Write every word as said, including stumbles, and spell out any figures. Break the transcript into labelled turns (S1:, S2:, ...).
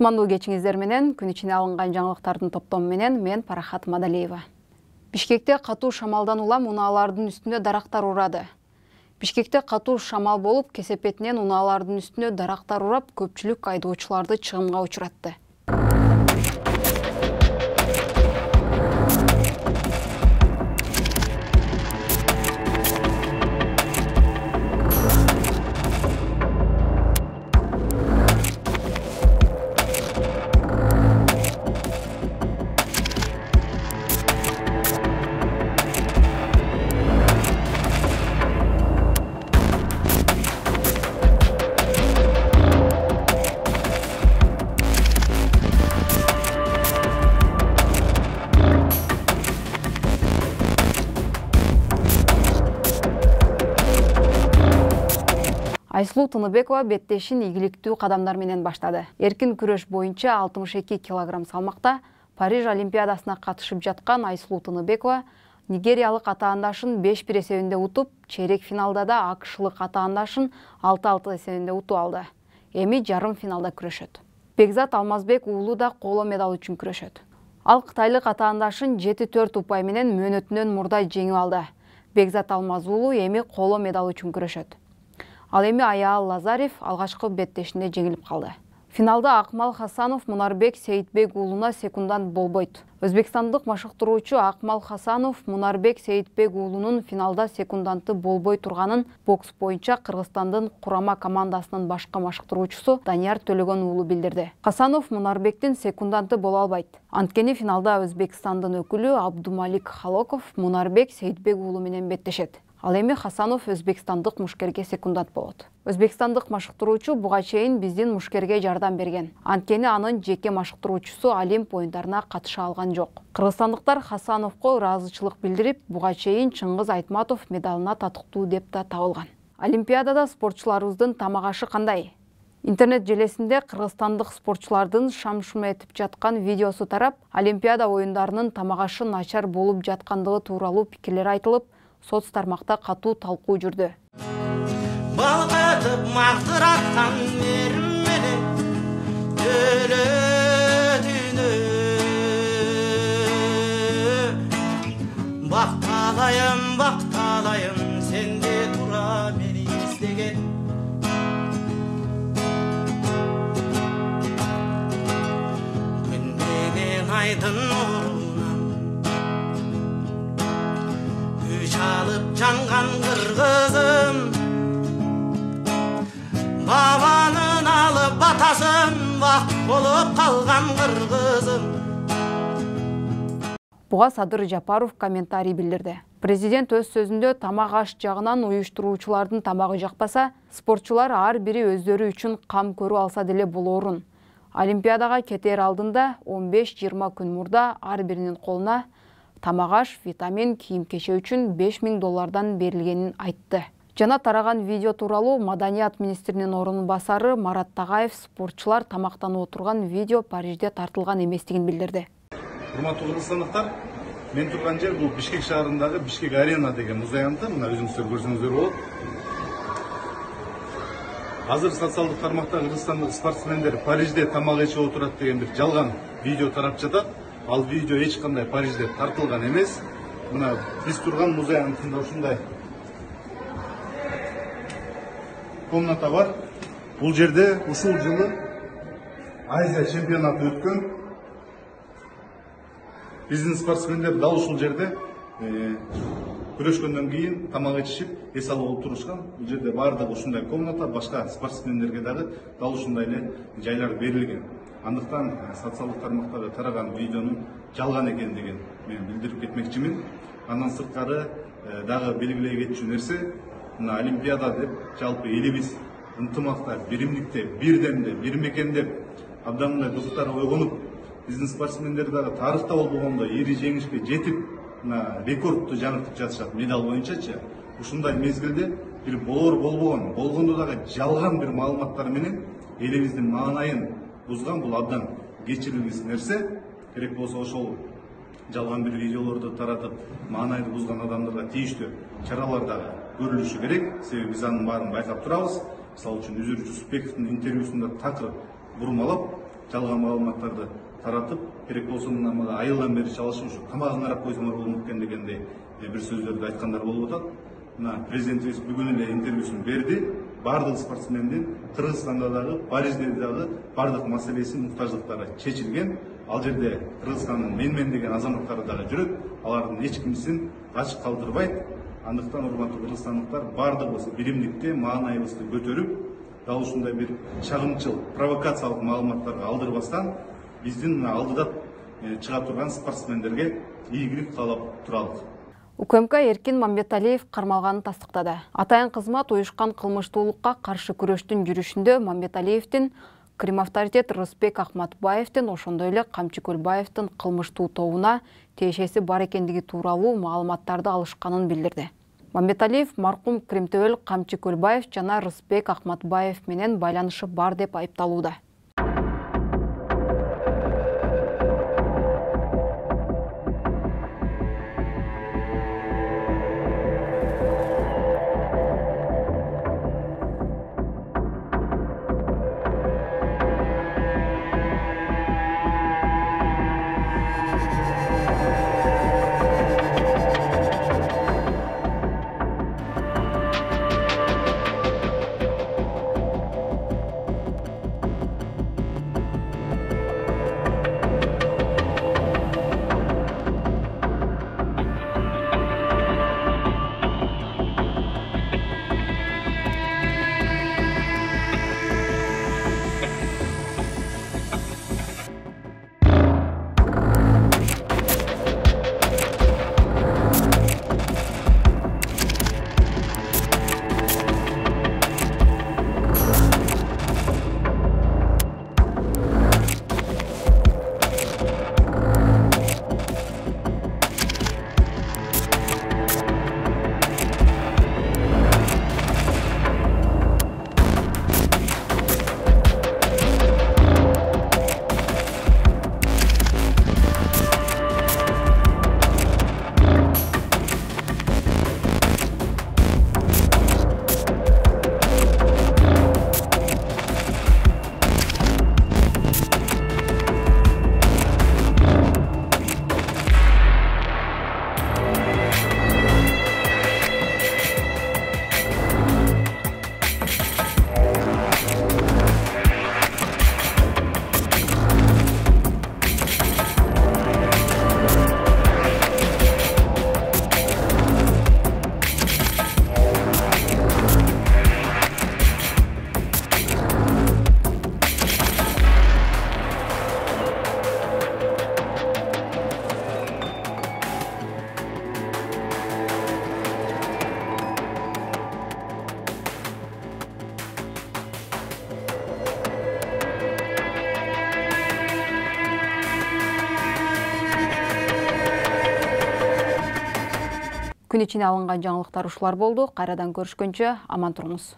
S1: Кутмандуу кечиңиздер менен күн ичине алынган жаңылыктардын топтому менен мен Парахат Мадалиева. Бишкекте катуу шамалдан улам унаалардын үстүнө дарактар урады. Бишкекте катуу шамал болуп, кесепетинен унаалардын үстүнө дарактар урап, көпчүлүк айдоочуларды чыгымга учуратты. Айсулуу Тыныбекова беттешин ийгиликтүү кадамдар менен баштады. Эркин күрөш боюнча алтымыш эки килограмм салмакта Париж Олимпиадасына катышып жаткан Айсулуу Тыныбекова нигериялык атаандашын беш бир эсебинде утуп, чейрек финалда да акышлык атаандашын алты алты эсебинде утуп алды. Эми жарым финалда күрөшөт. Бекзат Алмазбек уулу да коло медаль үчүн күрөшөт. Ал кытайлык атаандашын жети төрт упай менен мөөнөтүнөн мурда жеңип алды. Бекзат Алмаз уулу эми коло медаль үчүн күрөшөт. Ал эми Аяал Лазарев алгачкы беттешинде жеңилип калды. Финалда Акмал Хасанов Мунарбек Сейитбек уулуна секундант болбойт. Өзбекстандык машыктыруучу Акмал Хасанов Мунарбек Сейитбек уулунун финалда секунданты болбой турганын бокс боюнча Кыргызстандын курама командасынын башкы машыктыруучусу Данияр Төлөгөн уулу билдирди. Хасанов Мунарбектин секунданты боло албайт. Анткени финалда Өзбекстандын өкүлү Абдумалик Халоков Мунарбек Сейитбек уулу менен беттешет. Ал эми Хасанов өзбекстандык мушкерге секундант болот. Өзбекстандык машыктыруучу буга чейин биздин мушкерге жардам берген. Анткени анын жеке машыктыруучусу Олимп оюндарына катыша алган жок. Кыргызстандыктар Хасановго ыраазычылык билдирип, буга чейин Чыңгыз Айтматов медалына татыктуу деп да табылган. Олимпиадада спортчуларыбыздын тамак ашы кандай? Интернет желесинде кыргызстандык спортчулардын шам-шум этип жаткан видеосу тарап, Олимпиада оюндарынын тамак ашы начар болуп жаткандыгы тууралуу пикирлер айтылып, соц тармакта катуу талкуу жүрдү.
S2: Балкытып мактыраткан мерим менен өлөтүнө бакталайым, бакталайым сенде тура мени издеген. Күн менен айдын нурунан күч алып жанган кыргызым, бабанын алып батасын бак болуп калган кыргызым.
S1: Буга Садыр Жапаров комментарий билдирди. Президент өз сөзүндө тамак аш жагынан уюштуруучулардын тамагы жакпаса, спортчулар ар бири өздөрү үчүн кам көрүп алса деле болоорун. Олимпиадага кетер алдында он беш жыйырма күн мурда ар биринин колуна тамак аш, витамин, кийим-кече үчүн беш миң доллардан берилгенин айтты. Жана тараган видео тууралуу Маданият министринин орун басары Марат Тагаев спортчулар тамактанып отурган видео Парижде тартылган эместигин билдирди.
S3: Урматтуу кыргызстандыктар, мен турган жер бул Бишкек шаарындагы Бишкек арена деген муз аянты. Мына өзүңүздөр көрсөңүздөр болот. Азыр социалдык тармакта кыргызстандык спортсмендер Парижде тамак ичип отурат деген бир жалган видео тарап жатат. Ал видео эч кандай Парижде тартылган эмес. Мына биз турган муз аянтында ушундай комната бар. Бул жерде ушул жылы Азия чемпионаты өткөн. Биздин спортсмендер дал ушул жерде күрөшкөндөн кийин тамак ичишип, эс алып отурушкан. Бул жерде баардыгы ушундай комната, башка спортсмендерге дагы дал ушундай эле жайлар берилген. Андыктан социалдык тармактарда тараган видеонун жалган экендигин мен билдирип кетмекчимин. Андан сырткары дагы белгилей кетчү нерсе, мына Олимпиада деп жалпы элибиз ынтымакта, биримдикте, бирдемде, бир мекендеп, абдан мындай духтары ойгонуп, биздин спортсмендер дагы тарыхта болбогондо ири жеңишке жетип, мына рекордту жаңыртып жатышат медаль боюнчачы. Ушундай мезгилде бир болор болбогон, болгондо дагы жалган бир маалыматтар менен элибиздин маанайын бузган, бул абдан кечирилгис нерсе. Керек болсо ошол жалган бир видеолорду таратып, маанайды бузган адамдарга тийиштүү чаралар дагы көрүлүшү керек. Себеби биз анын баарын байкап турабыз. Мисалы үчүн Үзүр Жусупбековдун интервьюсунда такыр бурмалап, жалган маалыматтарды таратып, керек болсо мына мага айылдан бери чалышып ушу тамагын карап койсоңор болмок экен дегендей бир сөздөрдү айткандар болуп атат. Мына президентибиз бүгүн эле интервьюсун берди. Бардык спортсмендин Кыргызстанда дагы, Парижде дагы бардык маселеси, муктаждыктары чечилген. Ал жерде Кыргызстандын менмен деген азаматтары дагы жүрөт. Алардын эч кимсин ачык калтырбайт. Андыктан урматтуу кыргызстандыктар, бардыгыбыз биримдикте маанайыбызды көтөрүп, дал ушундай бир чагымчыл, провокациялык маалыматтарга алдырбастан биздин алдыда чыга турган спортсмендерге ийгилик каалап туралык.
S1: УКМК Эркин Мамбеталиев кармалганын тастыктады. Атайын кызмат уюшкан кылмыштуулукка каршы күрөштүн жүрүшүндө Мамбеталиевдин, Крим авторитет Рысбек Акматбаевдин, ошондой эле Камчы Көлбаевдин кылмыштуу тобуна тиешеси бар экендиги тууралуу маалыматтарды алышканын билдирди. Мамбеталиев маркум Кримтөбөл Камчы Көлбаев жана Рысбек Акматбаев менен байланышы бар деп айыпталууда. Күн ичине алынган жаңылыктар ушулар болду. Кайрадан көрүшкөнчө аман туруңуз.